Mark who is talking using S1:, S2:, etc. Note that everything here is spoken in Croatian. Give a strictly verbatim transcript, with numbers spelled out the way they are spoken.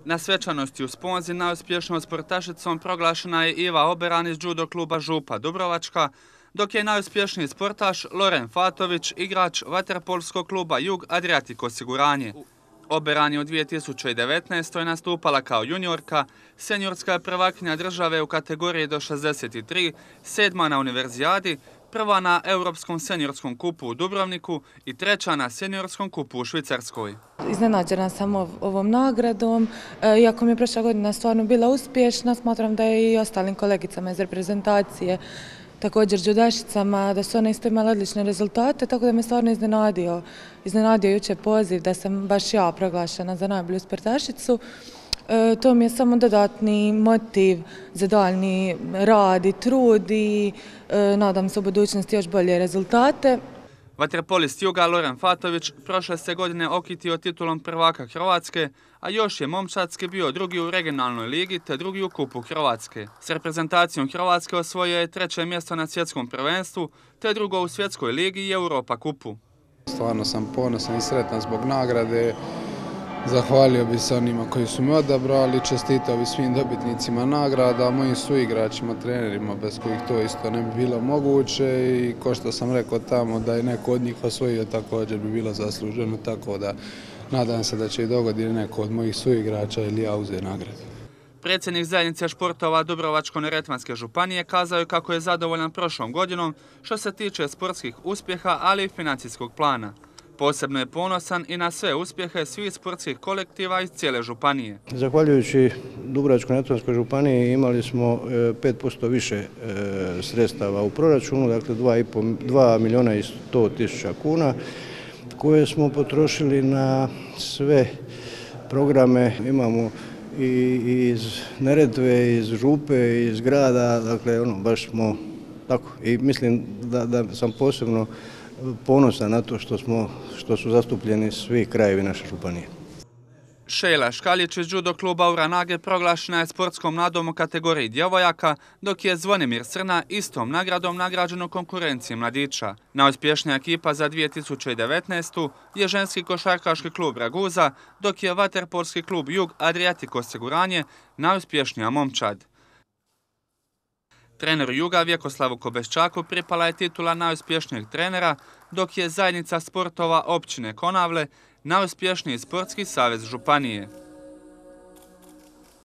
S1: Na svečanosti u Sponzi najuspješnijom sportašicom proglašena je Iva Oberan iz judo kluba Župa Dubrovačka, dok je najuspješniji sportaš Loren Fatović, igrač vaterpolskog kluba Jug Adriatic osiguranje. Oberan je u dvije tisuće devetnaestoj nastupala kao juniorka, seniorska je prvakinja države u kategoriji do šezdeset tri, sedma na univerzijadi, prva na Europskom seniorskom kupu u Dubrovniku i treća na seniorskom kupu u Švicarskoj.
S2: Iznenađena sam ovom nagradom, iako mi je prošla godina stvarno bila uspješna, smatram da je i ostalim kolegicama iz reprezentacije, također judašicama, da su one isto imale odlične rezultate, tako da me stvarno iznenadio. Iznenadio jučer poziv da sam baš ja proglašena za najbolju sportašicu. E, to mi je samo dodatni motiv za daljnji rad i trud i e, nadam se u budućnosti još bolje rezultate.
S1: Vaterpolist Juga Loren Fatović prošle se godine okitio titulom prvaka Hrvatske, a još je momčadski bio drugi u regionalnoj ligi te drugi u kupu Hrvatske. S reprezentacijom Hrvatske osvojio je treće mjesto na svjetskom prvenstvu te drugo u svjetskoj ligi i Europa kupu.
S3: Stvarno sam ponosan i sretan zbog nagrade. Zahvalio bi se onima koji su me odabrali, čestitao bi svim dobitnicima nagrada, mojim suigračima, trenerima bez kojih to isto ne bi bilo moguće i ko što sam rekao tamo da je neko od njih osvojio također bi bilo zasluženo, tako da nadam se da će i dogoditi neko od mojih suigrača ili ja uzeti nagradu.
S1: Predsjednik zajednice športova Dubrovačko-neretvanske županije kazao je kako je zadovoljan prošlom godinom što se tiče sportskih uspjeha, ali i financijskog plana. Posebno je ponosan i na sve uspjehe svih sportskih kolektiva iz cijele županije.
S4: Zahvaljujući Dubrovačko-neretvanskoj županiji imali smo pet posto više sredstava u proračunu, dakle dva milijuna i sto tisuća kuna, koje smo potrošili na sve programe. Imamo i iz Neretve, iz Župe, iz grada, dakle ono, baš smo tako. I mislim da, da sam posebno ponosan na to što, smo, što su zastupljeni svi krajevi naše županije.
S1: Šejla Škaljić iz judo kluba Uranage proglašena je sportskom nadom u kategoriji djevojaka, dok je Zvonimir Srna istom nagradom nagrađen u konkurenciji mladića. Najuspješnija ekipa za dvije tisuće devetnaestu je ženski košarkaški klub Raguza, dok je vaterpolski klub Jug Adriatic osiguranje najuspješnija momčad. Treneru Juga Vjekoslavu Kobeščaku pripala je titula najuspješnijeg trenera, dok je zajednica sportova općine Konavle najuspješniji sportski savez županije.